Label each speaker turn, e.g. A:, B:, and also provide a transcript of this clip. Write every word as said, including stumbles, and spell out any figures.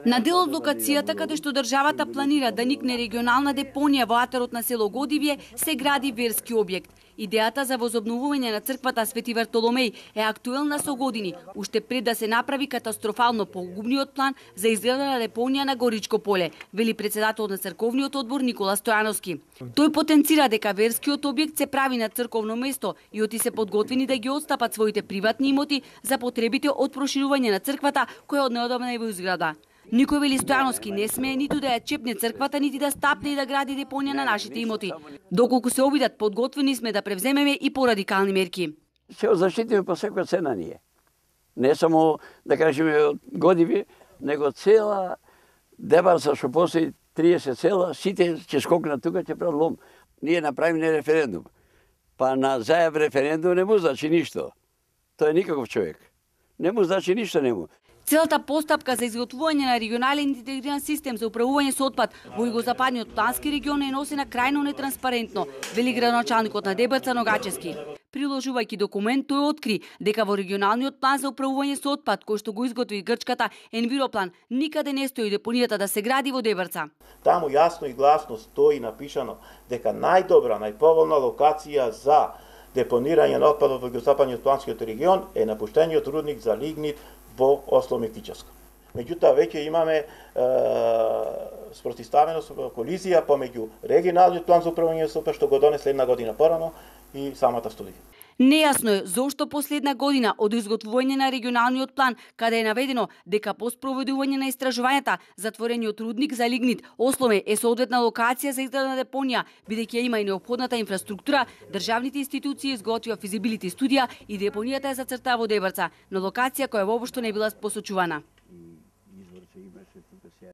A: На дел од локацијата каде што државата планира да никне регионална депонија во атарот на село Годивје, се гради верски објект. Идејата за возобновување на црквата Свети Вартоломеј е актуелна со години, уште пред да се направи катастрофално погубниот план за изградба на депонија на Горичко поле, вели председател на црковниот одбор Никола Стојановски. Тој потенцира дека верскиот објект се прави на црковно место и оти се подготвени да ги отстапат своите приватни имоти за потребите од проширување на црквата која однеодамна е во изграда. Никој, вели Стојановски, не смее ниту да ја чепне црквата, нити да стапне и да гради депонија на нашите имоти. Доколку се обидат, подготвени сме да превземеме и порадикални мерки.
B: Се защитиме по секоја цена ние. Не само, да кажеме, од Годивје, него цела Дебарца што постои триесет села, сите ќе скокнат тука, ќе прават лом. Ние направиме референдум. Па на зајав референдум не му значи ништо. Тој е никаков човек. Не му значи ништо, не му.
A: Целата постапка за изготвување на регионален интегриран систем за управување со отпад во југозападниот плански регион е носена крајно нетранспарентно, вели градоначалникот на Дебарца Ногачевски. Приложувајќи документ, тој откри дека во регионалниот план за управување со отпад, кој што го изготви грчката Енвироплан, никаде не стои депонијата да се гради во Дебарца.
C: Таму јасно и гласно стои напишано дека најдобра, најповолна локација за депонирање на отпадот во југозападниот планскиот регион е напуштениот рудник за лигнит во Осло Мектичевско. Меѓутоа, веќе имаме е, спротивставено колизија помеѓу регионалниот план за управување со отпад што го донесе една година порано и самата студија.
A: Нејасно е зошто последна година од изготвување на регионалниот план, каде е наведено дека по спроведување на истражувањата затворениот рудник за лигнит Осломе е соодветна локација за изграда на депонија, бидејќи има и неопходната инфраструктура, државните институции изготвија физибилити студија и депонијата е зацртаа во Дебарца, на локација која воопшто не била посочувана.